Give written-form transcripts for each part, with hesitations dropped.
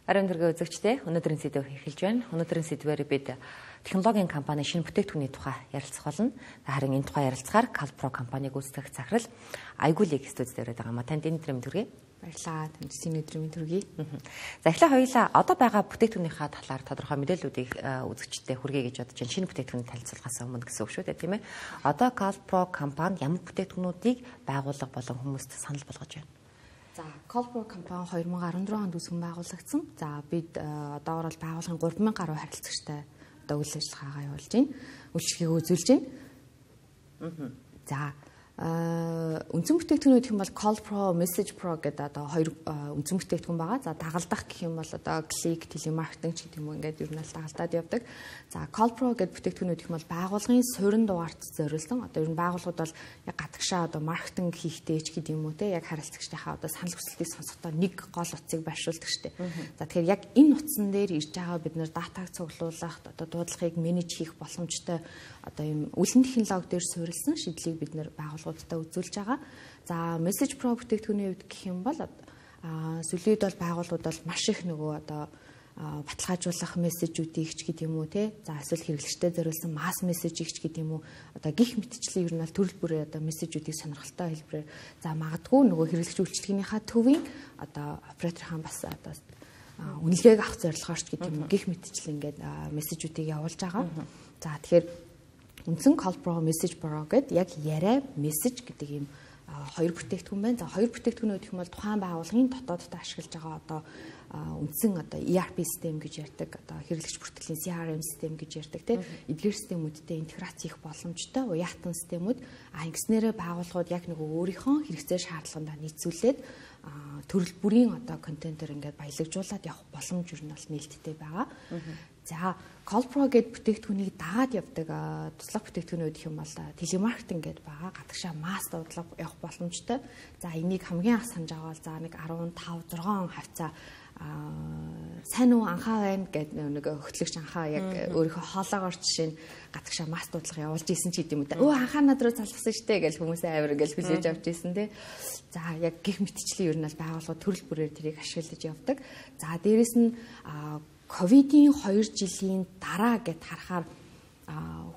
Ариун дэргээ үзэгчдээ өнөөдрийн сэдв эхэлж байна. Өнөөдрийн сэдвээр бид технологийн компани шинэ бүтээгдэхүүний тухай ярилцах болно. Харин энэ тухай ярилцахаар Calpro компаниг үүсгэх захирал Айгуулыг студид ирээд байгаа ма танд өнөөдрийн төргий. Баярлалаа. Танд өнөөдрийн төргий. За эхлээ хоёулаа одоо байгаа бүтээгдэхүүнийхаа талаар тодорхой мэдээллүүдийг үзэгчдэд хүргэе гэж бодож байна. Шинэ бүтээгдэхүүний танилцуулгаас өмнө гэсэн үг шүү дээ, тийм ээ. Одоо Calpro компани ямар бүтээгдэхүүнүүдийг байгуулга болон хүмүүст санал болгож байна? За, Calpro компани 2014 онд үүсгэн байгуулагдсан. За, бид одоогоор бол байгууллагын 3000 гаруй харилцагчтай одоо үйл ажиллагаагаа явуулж байна. Үйлчлэгийг үзүүлж байна. За, үндсэн бүтээгдэхүүн гэх юм бол Calpro, Message Pro гэдэг одоо хоёр үндсэн бүтээгдэхүүн байгаа. За, дагалдах гэх юм бол одоо клик, телемаркетинг ч гэдэг юм уу ингээд ер нь л дагалдаад явдаг. За, Calpro гэдэг бүтээгдэхүүн гэх юм бол байгууллагын суурин дугаарт зориулсан. Одоо ер нь байгууллагууд бол яг гадагшаа одоо маркетинг хийхдээ ч гэдэг юм уу те яг харилцагчдынхаа одоо санал хүсэлтийг сонсохдоо нэг гол утсыг байршуулдаг штеп. За, тэгэхээр яг энэ утсан дээр ирж байгаа бид нэр датаг цуглуулах, одоо дуудлагыг менеж хийх боломжтой одоо юм үлэн технологи дээр суурилсан шийдлийг бид нэр байгууллагуудад үзүүлж байгаа. За, Message Pro бүтээгдэхүүний хувьд гэх юм бол сүлээд бол байгууллагууд бол маш их нөгөө одоо баталгаажуулах мессежүүдийг ч гэдэг юм уу те за эсвэл хэрэглэгчдэд зориулсан масс мессежийг ч гэдэг юм уу одоо гих мэтчлэн ер нь бол төрөл бүрээ одоо мессежүүдийг сонирхолтой хэлбэрээр за магадгүй нөгөө хэрэглэгч үйлчлэгчийнхаа төвийн одоо операторын бас одоо үнэлгээг авах зорилгоор ч гэдэг юм уу гих мэтчлэн ингээд мессежүүдийг явуулж байгаа. За тэгэхээр үндсэн Calpro Message Pro гэдэг яг яриа мессеж гэдэг юм хоёр бүтээгдэхүүн байна. За хоёр бүтээгдэхүүн гэх юм бол тухайн байгууллагын дотооддоо ашиглаж байгаа одоо үндсэн одоо ERP систем гэж ярьдаг, одоо хэрэглэгч бүртгэлийн CRM систем гэж ярьдаг тийм эдгээр системүүдтэй интеграц хийх боломжтой уяатан системүүд ингэснээрээ байгууллагууд яг нөгөө өөрийнхөө хэрэгцээ шаардлагандаа нийцүүлээд төрөл бүрийн одоо контентоор ингээд баялагжуулаад явах боломж юу нь бол нээлттэй байгаа. За, Calpro гэдэг бүтээгдэхүүнийг дагаад явдаг туслах бүтээгдэхүүнүүд гэх юм бол телемаркетинг гэдэг байгаа. Гадагшаа масс дуудлага явах боломжтой. За, энийг хамгийн анх санаж аваад за нэг 15 6 хавцаа сайн уу анхаа байна гэдэг нэг хөтлөгч анхаа яг өөрийнхөө хоолоогоор жишээ нь гадагшаа масс дуудлага явуулж исэн ч гэдэм үү те. Өө анхаа над руу залгасан штэ гэж хүмүүсээ авир гэж хүлээж авч исэн те. За, яг гих мэтчлэн ер нь бол байгууллагууд төрөл бүрээр тэрийг ашиглаж явдаг. За, дээрэс нь ковидын 2 жилийн дараа гэд харахаар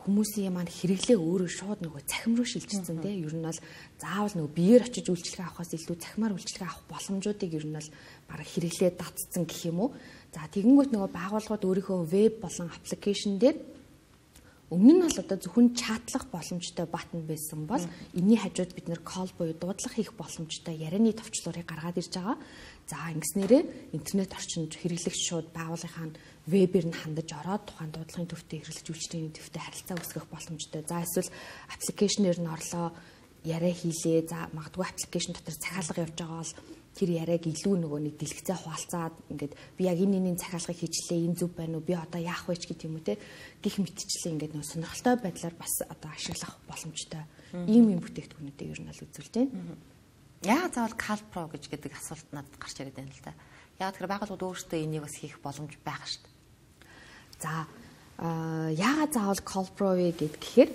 хүмүүсийн маань хэрэглээ өөрөө шууд нөгөө цахим руу шилжчихсэн тийм ер нь бол заавал нөгөө биеэр очиж үйлчлэгээ авахаас илүү цахимаар үйлчлэгээ авах боломжуудыг ер нь бол бараг хэрэглээ татцсан гэх юм уу. За тэгэнгүүт нөгөө байгууллагууд өөрийнхөө веб болон аппликейшн дээр өмнө нь бол одоо зөвхөн чатлах боломжтой баттон байсан бол энэний хажууд бид нэр call буюу дуудлага хийх боломжтой ярианы товчлуурыг гаргаад ирж байгаа. За ингэснээрээ интернет орчинд хэрэглэгч шууд байгууллагын вебээр нь хандаж ороод тухайн дуудлагын төвтэй хэрэглэгч үйлчлэгийн төвтэй харилцаа үүсгэх боломжтой. За эсвэл аппликейшнээр нь орлоо яриа хийлээ. За магадгүй аппликейшн дотор захиалга явж байгаа бол тэр яриаг илүү нөгөө нэг дэлгэцээ хуваалцаад ингээд би яг энэ захиалгыг хийчлээ энэ зөв байна уу би одоо яах вэ ч гэдэг юм уу те гих мэтчлээ ингээд нөгөө сонирхолтой байдлаар бас одоо ашиглах боломжтой ийм бүтээгдэхүүнүүдийг ер нь л үзүүлж байна. Яагаад заавал Calpro гэж гэдэг асуулт надад гарч ирээд байна л да. Яагаад тэгэхээр байгууллагууд өөрсдөө энийг бас хийх боломж байгаа шүү дээ. За яагаад заавал Calpro вэ гэхээр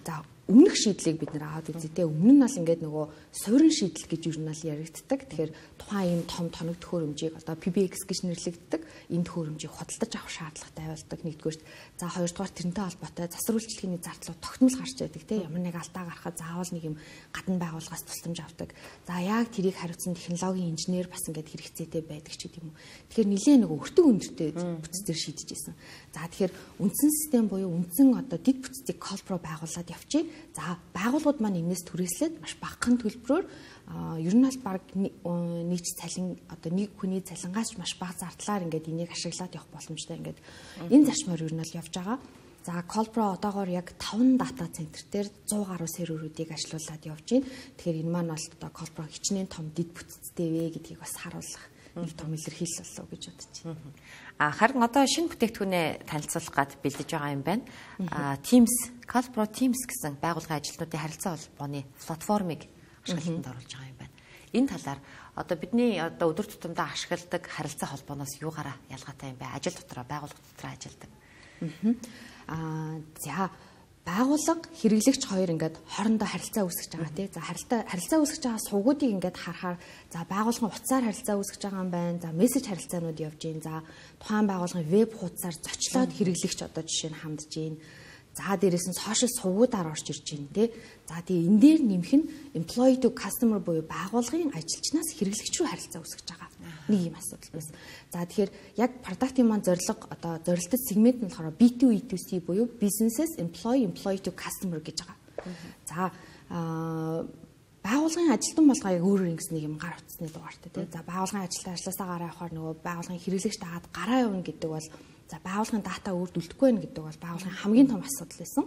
за өмнөх шийдлийг бид нэр аваад үзье. Өмнө нь бол ингээд нөгөө суурин шийдэл гэж юу нэл яригддаг. Тэгэхээр тухайн юм том тоног төхөөрөмжийг одоо PBX гэж нэрлэгддэг. Энэ төхөөрөмжийг худалдаж авах шаардлагатай байлдаг нэгдүгээр. За хоёрдугаар тэрнтэй холбоотой засвар үйлчлэгээний зардлууд тогтмол гарч байдаг тийм ямар нэг алдаа гарахад заавал нэг юм гадна байгууллагаас тусламж авдаг. За яг тэрийг хариуцсан технологийн инженер бас ингээд хэрэгцээтэй байдаг ч гэдэм юм. Тэгэхээр нэлээ нөгөө өртөг өндөртэй бүтцээр шийдэж исэн. За тэгэхээр үндсэн систем буюу үндсэн одоо дэд бүтцийг Calpro байгуулад явчих. За байгууллагууд маань энэс түрээслээд маш багахан төлбөрөөр ер нь бол баг нийт цалин одоо нэг хүний цалингаас маш бага зардлаар ингээд энийг ашиглаад явах боломжтой ингээд энэ зарчмаар ер нь бол явж байгаа. За Calpro одоогоор яг 5 дата центр дээр 100 гаруй серверүүдийг ажилуулад явж байна. Тэгэхээр энэ маань бол одоо Calpro хичнээн том дэд бүтцтэй вэ гэдгийг бас харуулах нэг том илэрхийлэл болов гэж бодож байна. Харин одоо шинэ бүтээгдэхүүнээ танилцуулах гад бэлдэж байгаа юм байна. Teams, Calpro Teams гэсэн байгууллагын ажилтнуудын харилцаа холбооны платформыг ашиглалтанд оруулж байгаа юм байна. Энэ талаар одоо бидний одоо өдөр тутамдаа ашигладаг харилцаа холбооноос юугаараа ялгаатай юм бэ? Ажил дотроо, байгууллага дотроо ажилдаг. За байгууллага хэрэглэгч хоёр ингээд хоорондоо харилцаа үүсгэж байгаа тий. За харилцаа үүсгэж байгаа сувгуудыг ингээд харахаар за байгууллагын утсаар харилцаа үүсгэж байгаа юм байна. За мессеж харилцаанууд явж гин. За тухайн байгууллагын веб хуудасаар зочлоод хэрэглэгч одоо жишээ нь хандж гин. За дээрээс нь сошиал сувгуудаар орж ирж гин тий. За тэгээ энэ дээр нэмэх нь employee to customer буюу байгууллагын ажилчнаас хэрэглэгч рүү харилцаа үүсгэж байгаа. Нэг юм асуудал байсан. За тэгэхээр яг продуктын маань зорилго одоо зорилттой сегмент нь болохоор B2E2C буюу businesses employee to customer гэж байгаа. За байгууллагын ажилтан болгоо яг өөрөөр ингэс нэг юм гар утасны дугаартай тий. За байгууллагын ажилтан ажилласаа гараа явахаар нөгөө байгууллагын хэрэглэгч дагаад гараа явна гэдэг бол за байгууллагын дата өөрт үлдэхгүй байх гэдэг бол байгууллагын хамгийн том асуудал байсан.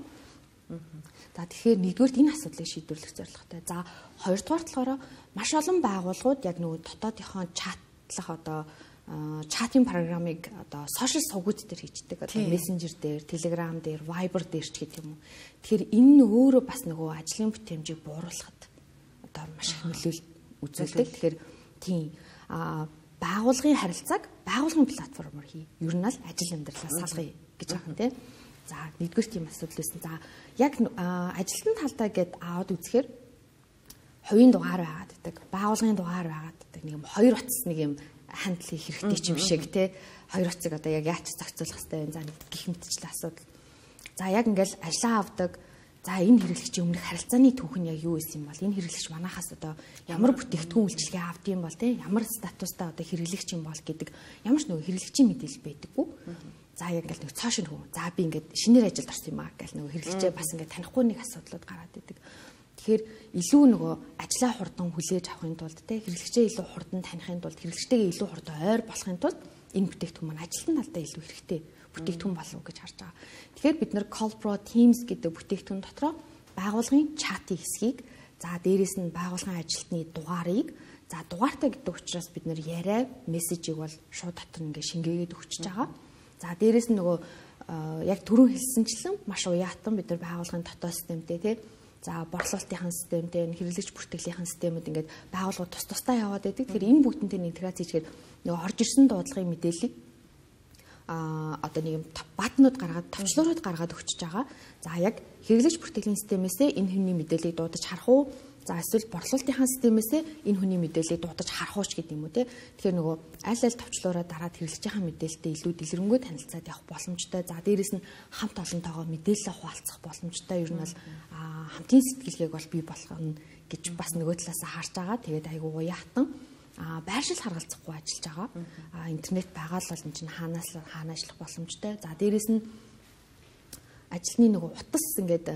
За тэгэхээр нэгдүгээр энэ асуудлыг шийдвэрлэх зорилготой. За хоёрдугаар болохоор маш олон байгууллагууд яг нөгөө дотоодынхоо чатлах одоо чатын програмыг одоо сошиал сувгууд дээр хийждэг. Одоо мессенжер дээр, Telegram дээр, Viber дээр ч гэх юм уу. Тэгэхээр энэ нь өөрөө бас нөгөө ажлын бүтээмжийг бууруулахад одоо маш их нөлөөлөл үзүүлдэг. Тэгэхээр тийм байгууллагын харилцааг байгууллагын платформоор хий. Ер нь л ажил амьдралаас салгая гэж байгаа юм тийм. За нэгдүгээр тийм асуудал байсан. За яг ажилтны талдаа гээд аваад үзэхээр хувийн дугаар байгаад байдаг, байгууллагын дугаар байгаад байдаг. Нэг юм хоёр утас нэг юм хандлын хэрэгтэй ч юм шиг тий. Хоёр утсыг одоо яг яаж зохицуулах хэрэгтэй вэ? За нэг гих мэтчлээ асуудал. За яг ингээл ажиллаа авдаг. За энэ хэрэглэгчийн өмнөх харилцааны түүх нь яг юу байсан юм бол энэ хэрэглэгч манахаас одоо ямар бүтээгдэхүүн үйлчилгээ авд юм бол тий ямар статустай одоо хэрэглэгч юм бол гэдэг ямар ч нөгөө хэрэглэгчийн мэдээлэл байдаггүй. За яг ингээл нэг цааш нь хөө. За би ингээд шинээр ажилд орсон юм аа гэл нөгөө хэрэглэгчээ бас ингээд танихгүй нэг асуудлууд гараад идэг. Тэгэхээр илүү нөгөө ажлаа хурдан хүлээж авахын тулд тий хэрэглэгчээ илүү хурдан танихын тулд хэрэглэгчтэйгээ илүү хурдан ойр болохын тулд энэ бүтээгдэхүүн маань ажилтны талдаа илүү хэрэгтэй бүтээгдэхүүн болов гэж харж байгаа. Тэгэхээр бид нэр CallPro Teams гэдэг бүтээгдэхүүн дотроо байгууллагын чатын хэсгийг за дээрэс нь байгууллагын ажилтны дугаарыг за дугаартай гэдэг учраас бид нэр яриа мессежийг бол шууд дотор ингээ шингээгээд өгчөж байгаа. За дээрэс нь нөгөө яг түрүү хэлсэнчлэн маш уяатан бид нар байгууллагын дотоод системтэй тий за борлуулалтын системтэй хэрэглэгч бүртгэлийн системүүд ингээд байгууллагууд тус тусдаа яваад байдаг. Тэгэхээр энэ бүгднтэй интеграц хийгээд нөгөө орж ирсэн дуудлагын мэдээллийг одоо нэг юм батнууд гаргаад товчлуурууд гаргаад өгчөж байгаа. За яг хэрэглэгч бүртгэлийн системээсээ энэ хүний мэдээллийг дуудаж харах уу? За эсвэл борлуулалтын системээсээ энэ хүний мэдээллийг дуудаж харах уу ч гэдэг юм уу те. Тэгэхээр нөгөө аль аль товчлуураа дараад хэрэглэгчийн мэдээлэлтэй илүү дэлгэрэнгүй танилцаад явах боломжтой. За дээрэс нь хамт олонтойгоо мэдээлэл хуваалцах боломжтой. Ер нь бол хамтын сэтгэлгээг бол бий болгоно гэж бас нөгөө талаасаа харж байгаа. Тэгээд айгуу уяатан байршил харгалзахгүй ажиллаж байгаа. Интернет байгаа л бол энэ чинь хаанаас ажиллах боломжтой. За дээрэс нь ажилтны нөгөө утас ингээд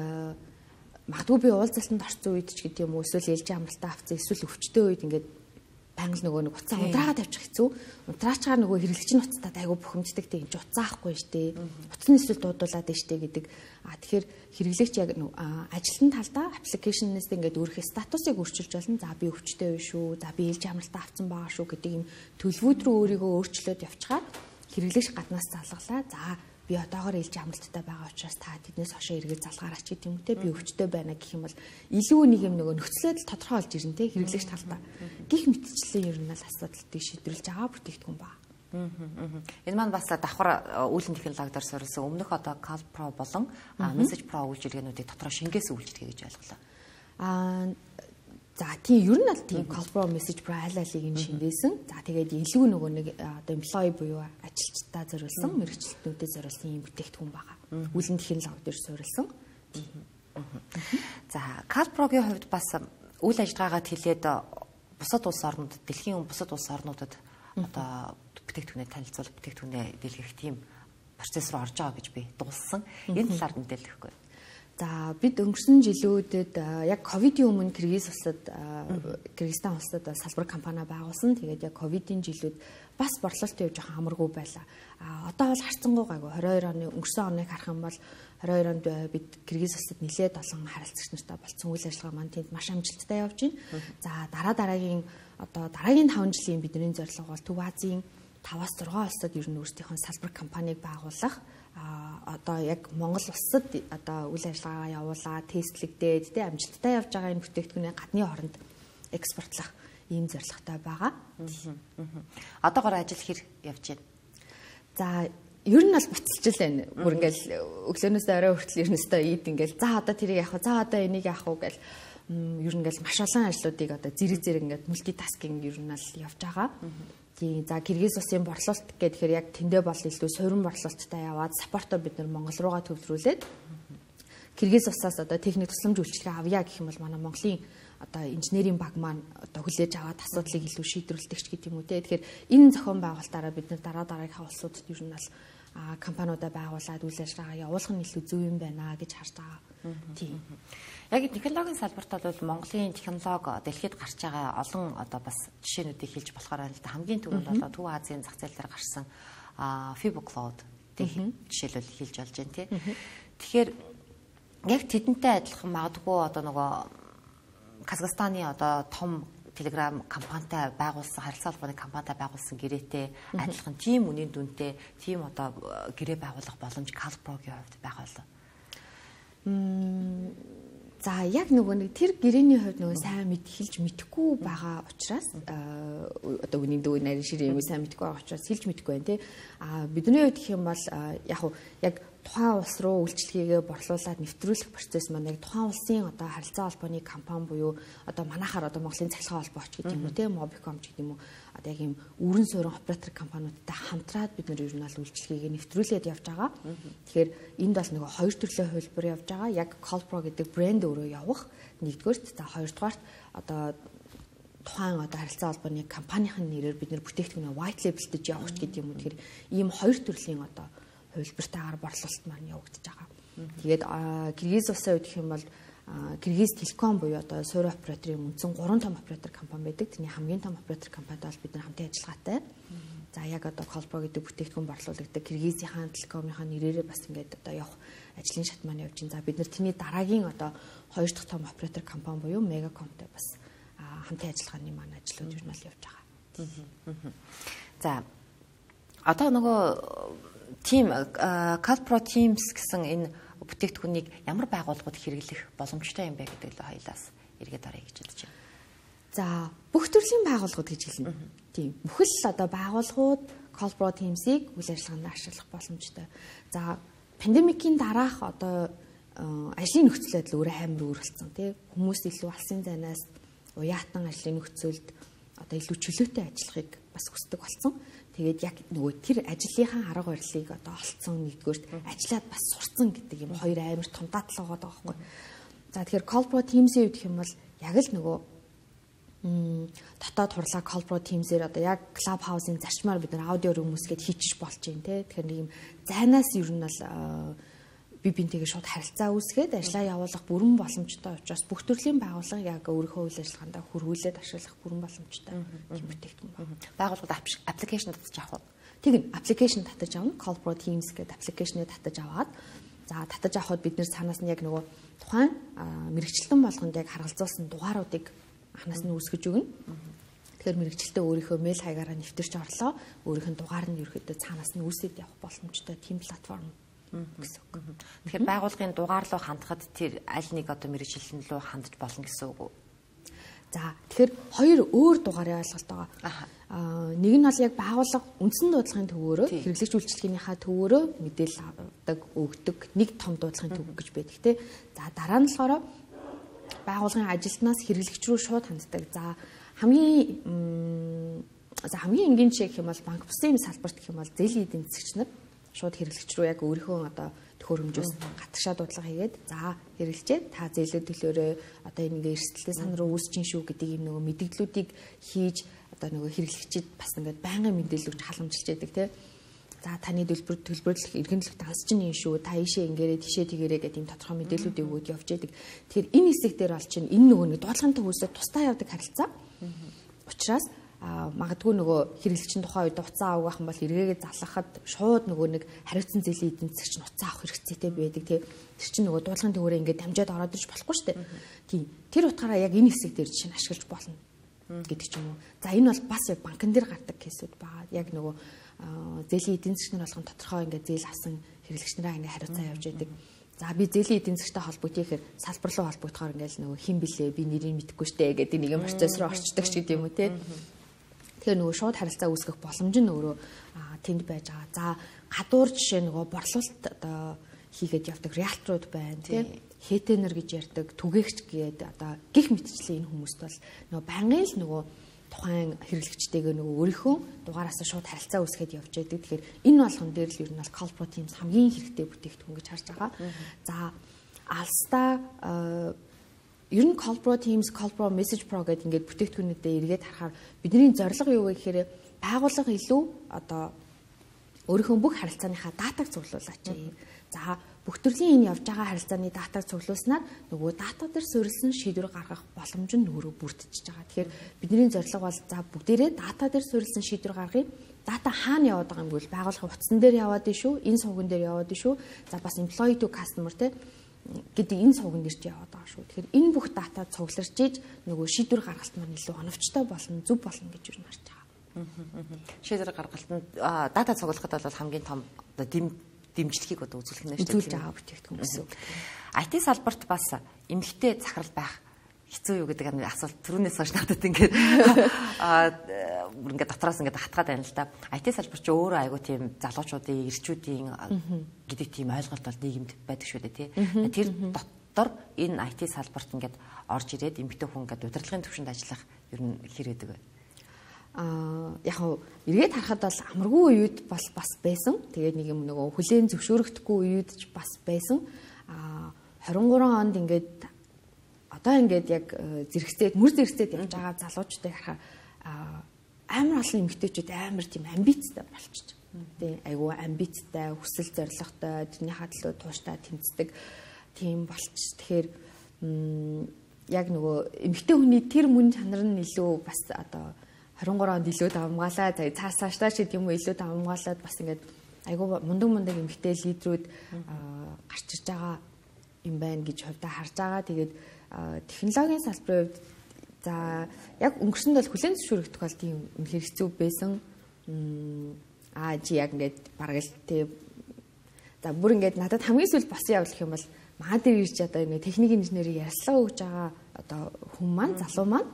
магадгүй би уулзалтанд орсон үед ч гэдэг юм уу эсвэл ээлжийн амралтаа авцсан эсвэл өвчтөе үед ингээд байнга нөгөө нэг утсаа ундраагаад тавьчих хэцүү. Унтраачаар нөгөө хэрэглэгчийн утастад айгу бухимддаг тийм ч утсаа авахгүй штэ. Утасны эсвэл дуудуулаад штэ гэдэг. Тэгэхээр хэрэглэгч яг ажилтны талдаа аппликейшнээс ингээд өөрийнхөө статусыг өөрчилж болно. За би өвчтөе шүү. За би ээлжийн амралтаа авцсан байгаа шүү гэдэг юм төлөвүүд рүү өөрийгөө өөрчлөөд явчихаар хэрэглэгч гаднаас залгалаа. За би одоогоор ээлжийн амралттай байгаа учраас та тэднээс хошоо эргээд залгаараач гэдэг юм те би өвчтөй байна гэх юм бол илүү нэг юм нөгөө нөхцөлөд тодорхой олж ирнэ те хэрэглэгч талдаа гих мэтчлэн ер нь л асуудлыг шийдвэрлэж байгаа бүтээгдэхүүн ба. Энэ маань бас давхар үүлэн технологиор суурилсан өмнөх одоо CallPro болон Message Pro үйлчилгээнүүдийг дотроо шингээс үйлчлэгээ гэж ойлголоо. За тийм ер нь л тийм CallPro Message Pro аль алийг нь шингээсэн. За тэгээд илүү нөгөө нэг одоо employee буюу ажилчдаа зориулсан, мэргэжилтнүүдэд зориулсан юм бүтээгдэхүүн байгаа. Үүлэн технологи дээр суурилсан. За CallPro-гийн хувьд бас үйл ажиллагаагаа хэлээд бусад улс орнуудад, дэлхийн бусад улс орнуудад одоо бүтээгдэхүүнээ танилцуулах, бүтээгдэхүүнээ дэлгэх тийм процесс руу орж байгаа гэж би дуулсан. Энэ талаар мэдээлэхгүй. За бид өнгөрсөн жилүүдэд яг ковидын өмнө Кыргызстан улсад салбар компани байгуулсан. Тэгээд яг ковидын жилүүд бас борлуулалт явж байгаа амаргүй байлаа. Одоо бол харцангуй гайгүй 22 оны өнгөрсөн оныг харах юм бол 22 онд бид Кыргыз улсад нэлээд олон харилцагч нартай болцсон үйл ажиллагаа маань тэнд маш амжилттай явж байна. За дараагийн 5 жилийн бидний зорилго бол Төв Азийн 5-6 улсад ер нь өөрсдийнхөө салбар компанийг байгуулах. Одоо яг Монгол улсад одоо үйл ажиллагаа явуулаад тестлэгдээд тэ амжилттай явж байгаа энэ бүтээгдэхүүнээ гадны оронд экспортлох ийм зорилготой байгаа. Одоогоор ажил хэр явж байна? За ер нь бол буцалж л байна. Бүр ингээл өглөөнөөс орой хүртэл ернөстэй ийд ингээл за одоо тэрийг яах вэ? За одоо энийг яах вэ гэл ер нь ингээл маш олон ажлуудыг одоо зэрэг ингээд мультитаскинг ер нь л явж байгаа. Тийм за Киргиз улсын борлуулалт гэхээр яг тэндээ бол илүү суурин борлуулалттай яваад саппортоор бид нар Монгол руугаа төвлөрүүлээд Киргиз улсаас одоо техник тусламж үйлчилгээ авъя гэх юм бол манай Монголын одоо инженерийн баг маань одоо хүлээж аваад асуудлыг илүү шийдвэрлэдэг гэдэг юм уу те. Тэгэхээр энэ зохион байгуулалтаараа бид нар дараагийнхаа улсуудад ер нь бол компаниудаа байгуулад үйл ажиллагаа явуулах нь илүү зөв юм байна гэж харж байгаа. Тийм. Яг технологийн салбарт бол Монголын технологи дэлхийд гарч байгаа олон одоо бас жишээнүүдийг хэлж болохоор байна л да. Хамгийн түрүүнд бол Төв Азийн зах зээл дээр гарсан Fibo Cloud жишээлбэл хэлж болж байна тий. Тэгэхээр яг тэдэнтэй адилхан магадгүй одоо нөгөө Казахстаны одоо том Telegram компанитай байгуулсан харилцаа холбооны компанитай байгуулсан гэрээтэй адилхан тийм үнийн дүнтэй тийм одоо гэрээ байгуулах боломж Calpro-гийн хувьд байгаа болов. За яг нөгөө нэг тэр гэрээний хувьд нөгөө сайн хэлж мэдэхгүй байгаа учраас одоо үнийн дүү нарийн ширээ юм сайн мэдэхгүй байгаа учраас хэлж мэдэхгүй байна тий. Бидний хувьд гэх юм бол яг тухайн улс руу үйлчлэгээ борлуулад нэвтрүүлэх процесс маань яг тухайн улсын одоо харилцаа холбооны компани буюу одоо манайхаар одоо Монголын цахилгаан холбооч гэдэг юм уу те Mobicom ч гэдэг юм уу одоо яг ийм өрн суурин оператор компаниудтай хамтраад бид нар ер нь аль үйлчлэгийг нэвтрүүлээд явж байгаа. Тэгэхээр энд бол нөгөө хоёр төрлийн хувилбар явж байгаа. Яг Calpro гэдэг брэнд өөрөө явах нэгдүгээрт за хоёрдугаарт одоо тухайн одоо харилцаа холбооны компанийн нэрээр бид нар бүтээгдэхүүнээ white label-дэж явах гэдэг юм уу. Тэгэхээр ийм хоёр төрлийн одоо хувилбартаагаар борлуулалт маань явагдаж байгаа. Тэгээд Киргиз улсын үед гэх юм бол Киргиз Телеком буюу одоо суурин операторын үндсэн 3 том оператор компани байдаг. Тэрний хамгийн том оператор компанитай бол бид нар хамтын ажиллагаатай. За яг одоо Calpro гэдэг бүтээгдэхүүн борлуулдаг Киргизийн Телекомынхаа нэрээрээ бас ингээд одоо явах ажлын шат маань явж байна. За бид нар тэрний дараагийн одоо хоёр дахь том оператор компани буюу Megacomтэй бас хамтын ажиллагааны маань ажлууд ер нь бол явж байгаа. За одоо нөгөө Team Calpro Teams гэсэн энэ бүтээгдэхүүнийг ямар байгууллагууд хэрэглэх боломжтой юм бэ гэдэг л хоёлаас эргээд орё гэж бодож байна. За бүх төрлийн байгууллагууд гэж хэлнэ. Тийм. Бүхэл одоо байгууллагууд Calpro Teams-ийг үйл ажиллагаанд ашиглах боломжтой. За пандемикийн дараах одоо ажлын нөхцөл байдал өөрөө амар өөрчлөлтсөн тий. Хүмүүс илүү алсын зайнаас уяатан ажлын нөхцөлд одоо илүү чөлөөтэй ажиллахыг бас хүсдэг болсон. Тэгээд яг нөгөө тэр ажлынхаа арга барилыг одоо олцсон нэгдүгээрт ажиллаад бас сурцсан гэдэг юм хоёр амар том дадлага байгаа байхгүй. За тэгэхээр Calpro Teams-ийн үед гэх юм бол яг л нөгөө дотоод хурлаа Calpro Teams-ээр одоо яг Clubhouse-ын зарчмаар бид нар аудио румсгээд хийчих болж байна те. Тэгэхээр нэг юм зайнаас ер нь бол бинтэйгээ шууд харилцаа үүсгээд ажиллаа явуулах бүрэн боломжтой учраас бүх төрлийн байгууллага яг өөрийнхөө үйл ажиллагаанд хөрвүүлээд ашиглах бүрэн боломжтой юм бүтээгдэхүүн байна. Байгууллагад аппликейшн татаж авах уу? Тийм аппликейшн татаж авна. Calpro Teams гэдэг аппликейшнийг татаж аваад за татаж авахд бид нэр цаанаас нь яг нөгөө тухайн мэрэгчлэн болгонд яг харгалзуулсан дугааруудыг анханаас нь үүсгэж өгнө. Тэгэхээр мэрэгчлээ өөрийнхөө мэйл хаягаараа нэвтэрч орлоо. Өөрийнх нь дугаар нь ерөөхдөө цаанаас нь үүсээд явах боломжтой тийм платформ. Тэгэхээр байгууллагын дугаар руу хандахад тэр аль нэг одоо мэрэгчлэн рүү хандж болно гэсэн үг үү? За тэгэхээр хоёр өөр дугаарын ойлголт байгаа. Нэг нь бол яг байгууллага үндсэн дуудлагын төвөөрөө хэрэглэгч үйлчилгээнийхаа төвөөрөө мэдээлэл авдаг, өгдөг нэг том дуудлагын төв гэж байдаг тий. За дараа нь болохоор байгууллагын ажилтнаас хэрэглэгч рүү шууд ханддаг. За хамгийн энгийн жишээ гэх юм бол банк бусын салбарт гэх юм бол зээлийн эдийн засагч нар шууд хэрэглэгч рүү яг өөрийнхөө одоо төхөөрөмжөөс гатгшаа дуудлага хийгээд за хэрэглэжээ та зээлээ төлөөрөө одоо ингээ эрсдэлтэй сан руу үүсчин шүү гэдэг юм нөгөө мэдээллүүдийг хийж одоо нөгөө хэрэглэгчид бас ингээд байнгын мэдээлэл өгч халамжилж яадаг тий. За таны төлбөрлөх эргэнлэх данс чинь юм шүү та ийшээ ингээрээ тийшээ тэгээрээ гэдэг юм тодорхой мэдээллүүдийг өгөөд явж яадаг. Тэгэхээр энэ хэсэг дээр бол чинь энэ нөгөө нэг дуудлагын төвөөсөө тусдаа явдаг харилцаа. Учираас магадгүй нөгөө хэрэглэгчийн тухайн үед уцаа авах юм бол эргээгээ залгахад шууд нөгөө нэг хариуцсан зээлийн эдийн засагч нь уцаа авах хэрэгцээтэй байдаг тий. Тэр чинь нөгөө дуудлагын төвөөрөө ингээд дамжаад ороод ирж болохгүй шүү дээ. Тийм. Тэр утгаараа яг энэ хэсэг дээр чинь ашиглаж болно гэдэг ч юм уу. За энэ бол бас яг банкн дээр гардаг кейсүүд байгаа. Яг нөгөө зээлийн эдийн засагч нар болгон тодорхой ингээд зээл авсан хэрэглэгч нараа ингээд хариуцаа явж байдаг. За би зээлийн эдийн засагтай холбогдъё гэхээр салбар руу холбогдохоор ингээд нөгөө хин блэ би нэрийг мэдэхгүй штэ гэдэг нэг юм процесс руу орчдөг ч гэдэг юм уу тий. Тэгэхээр нөгөө шууд харилцаа үүсгэх боломж нь өөрөө тэнд байж байгаа. За гадуур жишээ нөгөө борлуулалт одоо хийгээд явдаг реалтрууд байна тийм хэтэнер гэж ярьдаг түгээгч гээд одоо гих мэтчлийн энэ хүмүүст бол нөгөө байнгын л нөгөө тухайн хэрэглэгчтэйгээ нөгөө өөрийнхөө дугаараас шууд харилцаа үүсгээд явж байдаг. Тэгэхээр энэ болгон дээр л ер нь бол call pro teams хамгийн хэрэгтэй бүтээгдэхүүн гэж харж байгаа. За алстаа ер нь call pro teams, call pro message pro гэдэг ингээд бүтээгдэхүүнүүдэд эргээд харахаар бидний зорилго юу вэ гэхээр байгууллага илүү одоо өөрийнхөө бүх харилцааныхаа датаг цуглуулаач. За бүх төрлийн энэ явж байгаа харилцааны датаг цуглуулснаар нөгөө дата дээр суурилсан шийдвэр гаргах боломж нь өөрөө бүрдчихэж байгаа. Тэгэхээр бидний зорилго бол за бүгдээрээ дата дээр суурилсан шийдвэр гаргая. Дата хаана яваад байгаа юм бол байгууллагын утсан дээр яваад дээ шүү, энэ сувган дээр яваад дээ шүү. За бас employee to customer гэдэг энэ сувган дээр ч яваад байгаа шүү. Тэгэхээр энэ бүх дата цугларч ийж нөгөө шийдвэр гаргалт маань илүү оновчтой болно, зөв болно гэж юу харж байгаа. Шийдвэр гаргалтанд дата цуглахад бол хамгийн том дэмжлэгийг одоо үзүүлэх нь шүү дээ. Үзүүлж байгаа бүтээгдэхүүн гэсэн. IT салбарт бас эмэгтэй захирал байх хэцүү юу гэдэг асуулт түрүүнээс хойш надад ингээд ингээд дотроос ингээд хатгаад байна л да. IT салбар ч өөрөө айгуу тийм залуучуудын, эрчүүдийн гэдэг тийм ойлголт бол нийгэмд байдаг шүү дээ тий. Тэр дотор энэ IT салбарт ингээд орж ирээд эмэгтэй хүн ингээд удирдлагын төвшөнд ажиллах ер нь хэр гэдэг вэ? Яг нь эргээд харахад бол амаргүй үед бас байсан. Тэгээд нэг юм нөгөө хүлээн зөвшөөрөгдөхгүй үед ч бас байсан. 23 онд ингээд одоо ингээд яг мөр зэрэгцээд явж байгаа залуучуудыг харахаар амар олон эмэгтэйчүүд амар тийм амбицтай болчихж байгаа. Тийм айгүй амбицтай, хүсэл зоригтой, тэрнийхээ төлөө тууштай тэмцдэг тийм болчих. Тэгэхээр яг нөгөө эмэгтэй хүний тэр мөн чанар нь илүү бас одоо 23 онд илүү давмгаалаа. За цаашдаа ч гэдэг юм уу илүү давмгаалаад бас ингээд айгүй мундаг эмэгтэй лидерүүд гарч ирж байгаа юм байна гэж хувьдаа харж байгаа. Тэгээд технологийн салбарын хувьд за яг өнгөрсөнд бол хүлээн зөвшөөрөгдөх бол тийм үнэхээр хэцүү байсан. Чи яг ингээд бараг л тий. За бүр ингээд надад хамгийн сүүл босон явдал юм бол маа дээр ирж одоо ингээд техник инженерийг ярьслага өгж байгаа одоо хүн маань залуу маань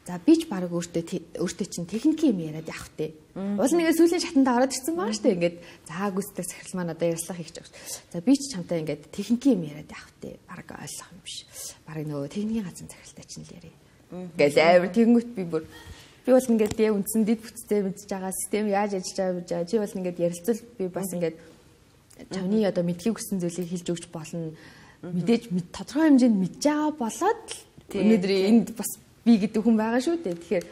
за би ч баг өөртөө чинь техникийн юм яриад явах тий. Уул нэгээ сүүлийн шатанд ороод ирсэн байгаа шүү дээ. Ингээд за гүйцэтгэх захирал маань одоо ярьслах хийх гэж байна. За би ч чамтай ингээд техникийн юм яриад явах тий. Баг ойлгох юм биш. Баг нөгөө техникийн газрын захиралтай чинь л яриа. Ингээд амар тэгэнгүүт би бол ингээд яа үндсэн дэд бүтцтэй мэдж байгаа систем яаж ажиллаж байгаа чи бол ингээд ярилцвал би бас ингээд чамны одоо мэдхийг хүссэн зүйлийг хэлж өгч болно. Мэдээж тодорхой хэмжээнд мэдж байгаа болоод өнөөдөр энд бас би гэдэг хүн байгаа шүү дээ. Тэгэхээр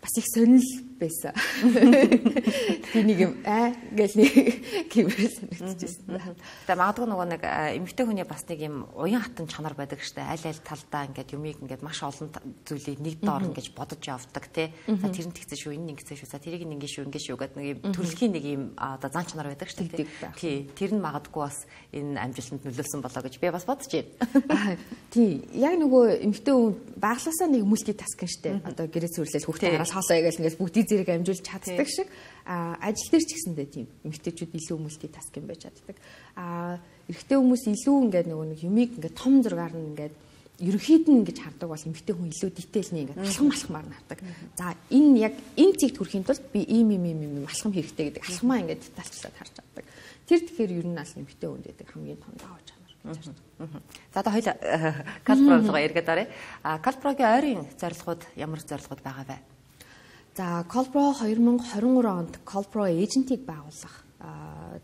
бас их сонирхол байсан. Би нэг юм гэл нэг гэмээр санагдчихсан. Тэгээ магадгүй нөгөө нэг эмэгтэй хүний бас нэг юм уян хатан чанар байдаг штэ. Аль талдаа ингээд юмыг ингээд маш олон зүйлийг нэг доор ингэж бодож явдаг тий. За тэр нь тэгсэн шүү, энэ ингэсэн шүү. За тэрийг ингэ шүү гэдэг нэг юм төрөлхийн нэг юм одоо зан чанар байдаг штэ тий. Тэр нь магадгүй бас энэ амжилтанд нөлөөлсөн болоо гэж би бас бодож байна. Тий. Яг нөгөө эмэгтэй хүн баглаасаа нэг мультитаскинг штэ. Одоо гэрээ сүрлэл хүүхдээ хараас хоолоо гээл ингээд бүгдийг зэрэг амжуулж чаддаг шиг ажил дээр ч гэсэндээ тийм эмэгтэйчүүд илүү мультитаскинг байж чаддаг. Эрэгтэй хүмүүс илүү ингээд нөгөө нэг юмыг ингээд том зургаар нь ингээд ерөнхийд нь ингэж хардаг бол эмэгтэй хүн илүү детейлний ингээд алхамаар нь хардаг. За энэ яг энэ цэгт хүрэхийн тулд би ийм алхам хэрэгтэй гэдэг алхамаа ингээд детальчлаад харж чаддаг. Тэр тэгэхээр ер нь аль эмэгтэй хүн гэдэг хамгийн том даваа чанар. За одоо хоёул Калпро руу эргээд оръё. Калпрогийн ойрын зорилгууд ямар зорилгууд байгаа вэ? За Калпро 2023 онд Калпро эйжентийг байгуулах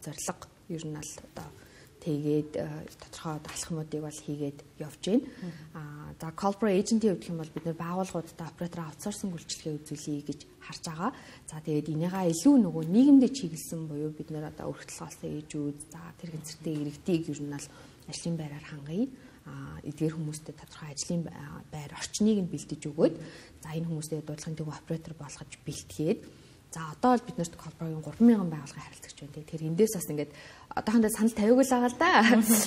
зорилго ер нь л одоо тэгээд тодорхой алхмуудыг бол хийгээд явж байна. За Калпро эйжентийн хувьд юм бол бид нэр байгууллагуудтай оператор аутсорсинг үйлчилгээ үзүүлэе гэж харж байгаа. За тэгээд энийгээ илүү нөгөө нийгэмдээ чиглэсэн буюу бид нэр одоо өргөдөлгөөсөө ээжүүд за тэр гэнцэртэй иргэдийг ер нь л ажлын байраар хангая. Эдгээр хүмүүстэй тодорхой ажлын байр орчныг нь бэлдэж өгөөд за энэ хүмүүстэй дуудлагын төв оператор болгож бэлтгээд за одоо бол бид нарт Калпрогийн 3000 байгууллагын харилцагч байна. Тэгэхээр эндээс бас ингээд одоохондоо санал тавиагүй л байгаа л да.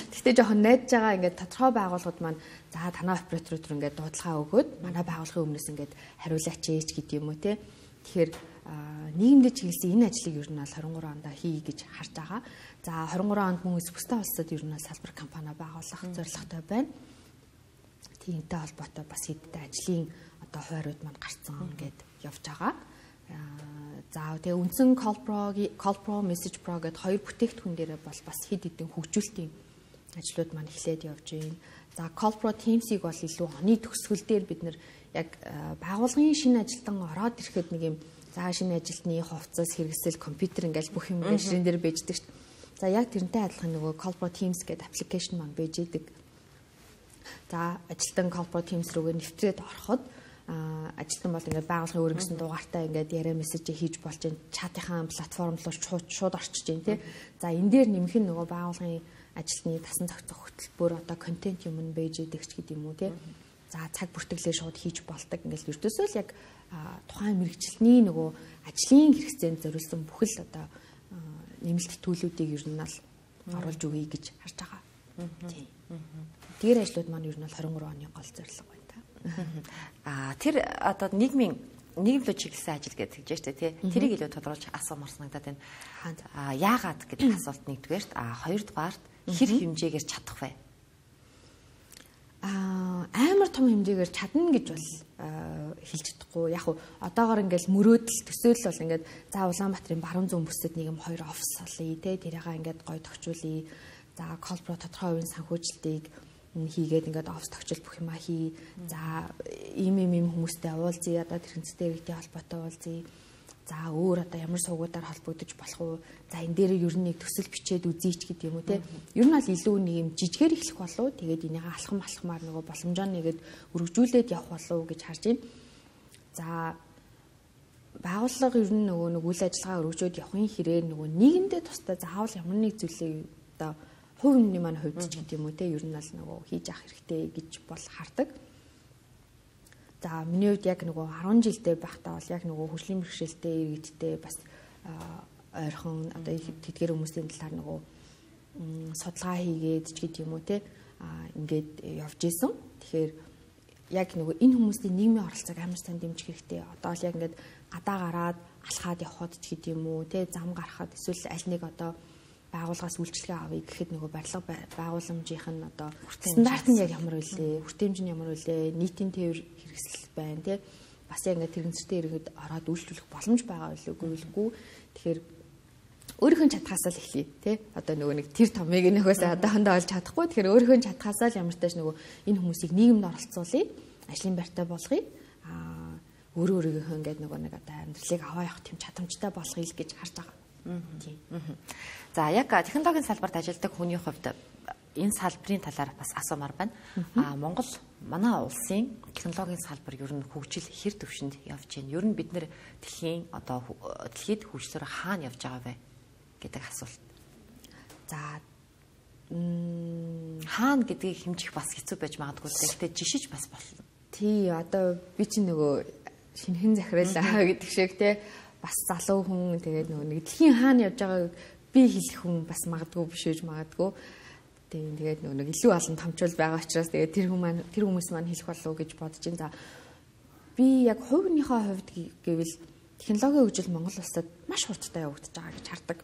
Гэхдээ жоохон найдаж байгаа ингээд тодорхой байгууллагууд маань за танай операторууд ингээд дуудлага өгөөд манай байгууллагын өмнөөс ингээд хариулаач ээж гэдэг юм уу те. Тэгэхээр нийгэмдээ чиглэсэн энэ ажлыг ер нь бол 23 онд хий гэж харж байгаа. За 23 онд мөн бусдаа улсад ер нь салбар компани байгуулах зорилготой байна. Тиймтэй холбоотой бас хэдтэй ажлын одоо хуваарууд маань гарцсан ингээд явж байгаа. За тэгээ үндсэн CallPro, MessagePro гэдэг хоёр бүтээгдэхүүн дээр бол бас хэд хэдэн хөгжүүлэлтийн ажлууд маань эхлээд явж байна. За CallPro Teams-ийг бол илүү оны төгсгөл дээр бид нэр яг байгууллагын шинэ ажилтан ороод ирэхэд нэг юм за шинэ ажилтны хувцас хэрэгсэл компьютер ингээл бүх юм ширэн дээр бийждэг шүү дээ. За яг тэрнтэй адилхан нөгөө CallPro Teams гэдэг аппликейшн маань байж идэг. За ажилтан CallPro Teams рүүгээ нэвтрээд ороход ажилтан бол ингээд байгууллагын өөрөнгөсөн дугаартай ингээд яриа мессежээ хийж болж байна. Чатынхаа платформ руу шууд орчиж байна тий. За энэ дээр нэмэх нь нөгөө байгууллагын ажилтны тасан зохицох хөтөлбөр одоо контент юм байж идэг ч гэдэг юм уу тий. За цаг бүртгэлээ шууд хийж болдог. Ингээд ердөөсөө л яг тухайн мэрэгчлэний нөгөө ажлын хэрэгцээнд зориулсан бүхэл одоо нэмэлт төлөвүүдийг ер нь л оруулж өгье гэж харж байгаа. Тийм. Тэр ажлууд маань ер нь бол 23 оны гол зорилго байна та. Тэр одоо нийгэмлөө чиглэсэн ажил гэж хэлж штэ тий. Тэрийг илүү тодруулж асуумар санагдаад байна. Яагаад гэдэг асуулт нэгдүгээрт хоёрдугаарт хэр хэмжээгээр чадах вэ? Амар том хэмжээгээр чадна гэж бол хэлж чадахгүй. Яг уу одоогоор ингээл мөрөөдөл төсөөлөл бол ингээд за Улаанбаатарын баруун зүүн бүсэд нэг юм 2 офис олъё те тэрийгээ ингээд гоё тохижуулъя. За CallPro тодорхой хувийн санхүүжилтийг хийгээд ингээд офс тогтчил бүх юма хий. За ийм хүмүүстэй уулзъя. Одоо тэрхэнцтэй иргэдийн холбоотой уулзъя. За өөр одоо ямар суугуудаар холбогдож болох уу? За энэ дээр ер нь нэг төсөл бичээд үзьеч гэдэг юм уу те. Ер нь бол илүү нэг юм жижигээр эхлэх болов. Тэгээд энийг алхамаар нөгөө боломжоо нэгээд өргөжүүлээд явах болов гэж харж байна. За байгууллага ер нь нөгөө нэг үйл ажиллагаа өргөжөөд явахын хэрээр нөгөө нийгэмдээ тусдаа заавал ямар нэг зүйлийг одоо хувь хүний маань хувьд ч гэдэг юм уу те. Ер нь бол нөгөө хийж авах хэрэгтэй гэж бол хардаг. За миний хувьд яг нөгөө 10 жилдээ байхдаа бол яг нөгөө хөгжлийн бэрхшээлтэй иргэдтэй бас ойрхон одоо тэдгээр хүмүүсийн талаар нөгөө судалгаа хийгээд ч гэдэг юм уу те ингээд явж исэн. Тэгэхээр яг нөгөө энэ хүмүүсийн нийгмийн оролцоог амар сайн дэмжих хэрэгтэй. Одоо л яг ингээд гадаа гараад алхаад явхад ч гэдэг юм уу те зам гарахад эсвэл аль нэг одоо байгууллагаас үйлчлэгээ авъя гэхэд нөгөө барилга байгууламжийнх нь одоо стандарт нь яг ямар вэ? Хүртээмж нь ямар вэ? Нийтийн тээвэр хэрэгсэл байна тий. Бас яг ингээд тэрэгцтэй иргэд ороод үйлчлүүлэх боломж байгаа үгүй. Тэгэхээр өөрийнхөө чадхаасаа л эхлэе тий. Одоо нөгөө нэг тэр томыг нөгөөсөө одоохондоо олж чадахгүй. Тэгэхээр өөрийнхөө чадхаасаа л ямар ч тааш нөгөө энэ хүмүүсийг нийгэмд оролцуулъя. Ажлын байртай болгоё. Өөрийнхөө ингээд нөгөө нэг одоо амьдралыг аваа явах тийм чадамжтай болгоё гэж харж байгаа. За яг технологийн салбарт ажилладаг хүний хувьд энэ салбарын талаар бас асуумар байна. Монгол манай улсын технологийн салбар ер нь хөгжил хэр төвшөнд явж байна? Ер нь бид нэр дэлхийд хөгжлөөр хаана явж байгаа вэ гэдэг асуулт. За хаана гэдгийг хэмжих бас хэцүү байж магадгүй. Гэхдээ жишиж бас болно. Тий, одоо би чинь нөгөө шинхэн захиралаа гэдэг шиг те бас залуу хүн тэгээд нөгөө нэг дэлхийн хаана явж байгааг би хэлэх хүн бас магадгүй биш үж магадгүй. Тэгээд нөгөө нэг илүү олон томчул байгаа учраас тэгээд тэр хүмүүс маань хэлэх болов уу гэж бодож байна. За би яг хувийнхаа хувьд гэвэл технологийн хөгжил Монгол улсад маш хурдтай явагдаж байгаа гэж хардаг.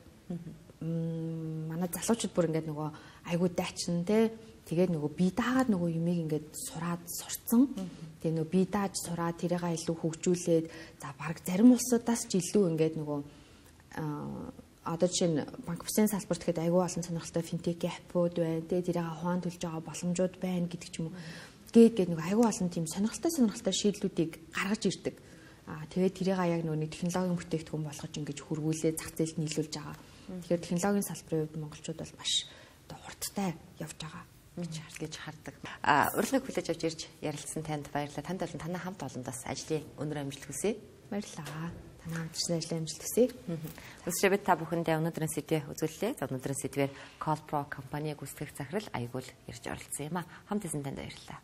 Манай залуучууд бүр ингээд нөгөө айгуу дайчин те тэгээд нөгөө би даагаад нөгөө юмыг ингээд сурцсан. Тэгээд нөгөө би дааж сураад тэрийгээ илүү хөгжүүлээд за баг зарим улсуудаас ч илүү ингээд нөгөө одоо жишээ нь банк бүсийн салбарт гэхэд айгүй олон сонирхолтой финтек аппууд байна. Тэгээд тэрийгээ ухаан төлж байгаа боломжууд байна гэдэг ч юм уу. Тэгээд нөгөө айгүй олон тийм сонирхолтой шийдлүүдийг гаргаж ирдэг. Тэгээд тэрийгээ яг нөгөө технологийн бүтээгдэхүүн болгож ингэж хөрвүүлээд зах зээлд нийлүүлж байгаа. Тэгэхээр технологийн салбарын хувьд монголчууд бол маш одоо хурдтай явж байгаа гэж хардаг. Урилгыг хүлээж авч ирж ярилцсан танд баярлалаа. Танд болон танай хамт олондоос ажлын өнөр амжилт хүсье. Баярлалаа. Танай хамтарсан ажлын амжилт хүсье. Өсрөбөд та бүхэндээ өнөөдрийн сэдвээ үзүүллээ. За өнөөдрийн сэдвээр CallPro компани гүйцэтгэх захирал Аягуул ирж оролцсон юм а. Хамт исэн танд баярлалаа.